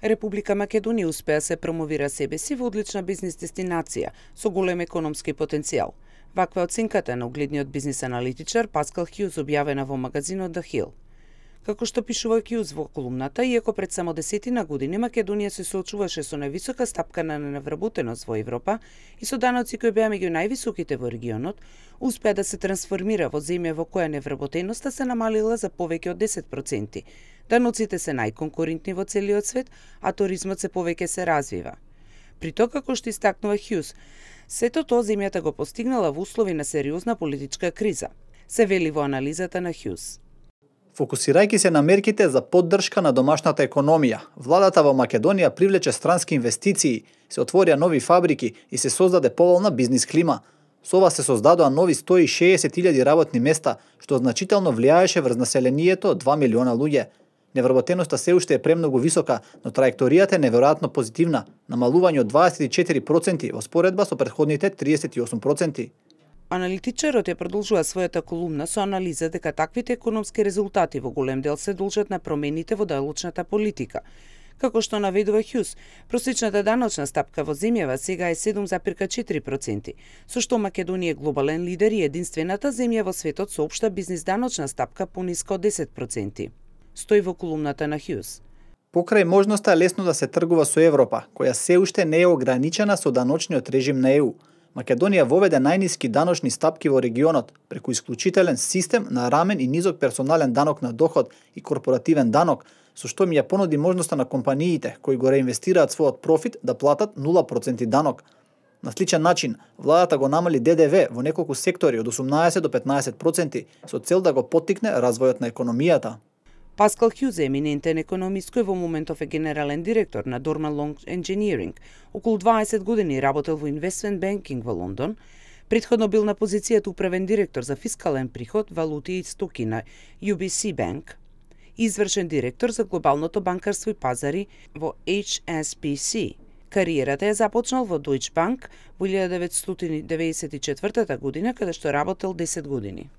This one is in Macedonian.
Република Македонија успеа се промовира себе си во одлична бизнис дестинација со голем економски потенцијал. Ваква оценката на угледниот бизнис аналитичар Паскал Хјуз објавена во магазинот The Hill. Како што пишува Хјуз во колумната, иако пред само 10 години Македонија се соочуваше со највисока стапка на невработеност во Европа и со даноци кои беа меѓу највисоките во регионот, успеа да се трансформира во земја во која невработеноста се намалила за повеќе од 10%. Даноците се најконкурентни во целиот свет, а туризмот се повеќе се развива. При тоа, како што истакнува Хјуз, сето тоа земјата го постигнала во услови на сериозна политичка криза, се вели во анализата на Хјуз. Фокусирајќи се на мерките за поддршка на домашната економија, владата во Македонија привлече странски инвестиции, се отворија нови фабрики и се создаде поволна бизнис клима. Со ова се создадоа нови 160.000 работни места, што значително влијаеше врз населението од 2 милиона луѓе. Невработеноста се уште е премногу висока, но траекторијата е неверојатно позитивна, намалување од 24% во споредба со претходните 38%. Аналитичарот ја продолжува својата колумна со анализа дека таквите економски резултати во голем дел се должат на промените во даночната политика. Како што наведува Хјуз, просечната даночна стапка во земјава сега е 7,4%, со што Македонија е глобален лидер и единствената земја во светот со општа бизнис даночна стапка пониска од 10%. Стои во колумната на Хјуз. Покрај можноста лесно да се тргува со Европа, која се уште не е ограничена со даночниот режим на ЕУ, Македонија воведе најниски даночни стапки во регионот преку исклучителен систем на рамен и низок персонален данок на доход и корпоративен данок, со што ми ја понуди можноста на компаниите кои го реинвестираат својот профит да платат 0% данок. На сличен начин, владата го намали ДДВ во неколку сектори од 18 до 15% со цел да го поттикне развојот на економијата. Паскал Хјуз е еминентен економист кој во моментов е генерален директор на Dorman Long Engineering. Околу 20 години работел во Investment Banking во Лондон. Претходно бил на позицијата управен директор за фискален приход, валути и стоки на UBC Bank, извршен директор за глобалното банкарство и пазари во HSBC. Кариерата ја започнал во Deutsche Bank во 1994 година, каде што работел 10 години.